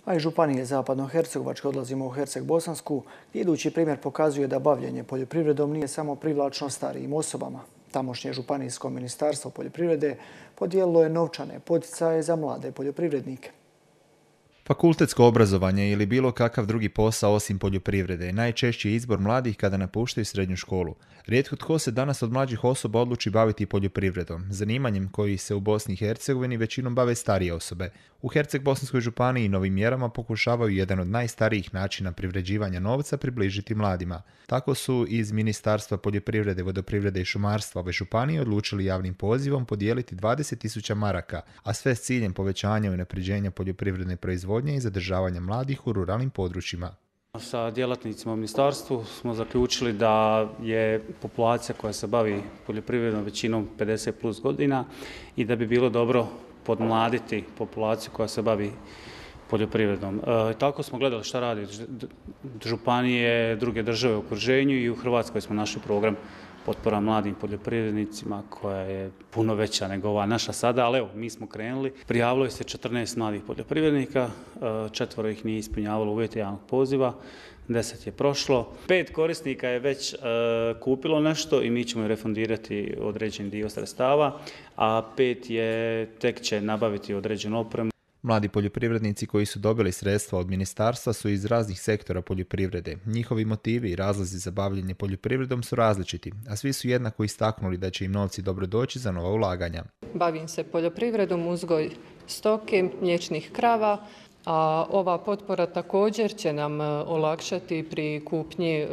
A iz županije Zapadno-Hercegovačke odlazimo u Herceg-Bosansku, gdje idući primjer pokazuje da bavljenje poljoprivredom nije samo privlačno starijim osobama. Tamošnje županijsko ministarstvo poljoprivrede podijelilo je novčane poticaje za mlade poljoprivrednike. Fakultetsko obrazovanje ili bilo kakav drugi posao osim poljoprivrede je najčešći izbor mladih kada napuštaju srednju školu. Rijetko tko se danas od mlađih osoba odluči baviti poljoprivredom, zanimanjem koji se u Bosni i Hercegovini većinom bave starije osobe. U Herceg-Bosanskoj županiji novim mjerama pokušavaju jedan od najstarijih načina privređivanja novca približiti mladima. Tako su iz Ministarstva poljoprivrede, vodoprivrede i šumarstva ove županije odlučili javnim pozivom podijeliti 20.000 maraka, a sve s ciljem povećanja i unapređenja poljoprivredne proizvodnje i zadržavanja mladih u ruralnim područjima. Sa djelatnicima u ministarstvu smo zaključili da je populacija koja se bavi poljoprivredom većinom 50 plus godina i da bi bilo dobro podmladiti populaciju koja se bavi poljoprivredom. Tako smo gledali šta radi županije, druge države u okruženju i u Hrvatskoj smo našli program potpora mladim poljoprivrednicima koja je puno veća nego ova naša sada, ali evo, mi smo krenuli. Prijavilo se 14 mladih poljoprivrednika, 4 ih nije ispunjavalo uvjete javnog poziva, 10 je prošlo. 5 korisnika je već kupilo nešto i mi ćemo refundirati određen dio sredstava, a 5 je tek će nabaviti određenu opremu. Mladi poljoprivrednici koji su dobili sredstva od ministarstva su iz raznih sektora poljoprivrede. Njihovi motivi i razlozi za bavljenje poljoprivredom su različiti, a svi su jednako istaknuli da će im novci dobro doći za nova ulaganja. Bavim se poljoprivredom, uzgoj stoke, mliječnih krava, a ova potpora također će nam olakšati pri kupnji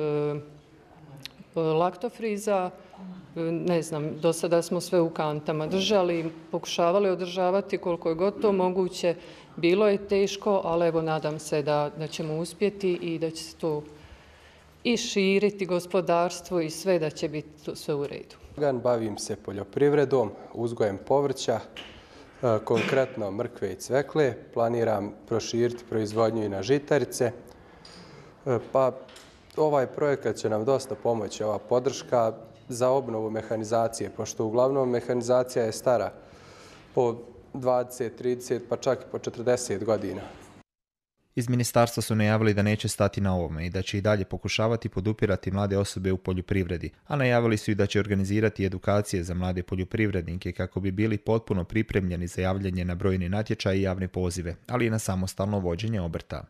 laktofriza. Ne znam, do sada smo sve u kantama držali, pokušavali održavati koliko je god to moguće. Bilo je teško, ali evo nadam se da ćemo uspjeti i da će se to i širiti gospodarstvo i sve, da će biti sve u redu. Bavim se poljoprivredom, uzgojem povrća, konkretno mrkve i cvekle. Planiram proširiti proizvodnju i na žitarice. Pa ovaj projekat će nam dosta pomoći, ova podrška za obnovu mehanizacije, pošto uglavnom mehanizacija je stara po 20, 30, pa čak i po 40 godina. Iz ministarstva su najavili da neće stati na ovome i da će i dalje pokušavati podupirati mlade osobe u poljoprivredi, a najavili su i da će organizirati edukacije za mlade poljoprivrednike kako bi bili potpuno pripremljeni za javljanje na brojne natječaje i javne pozive, ali i na samostalno vođenje obrta.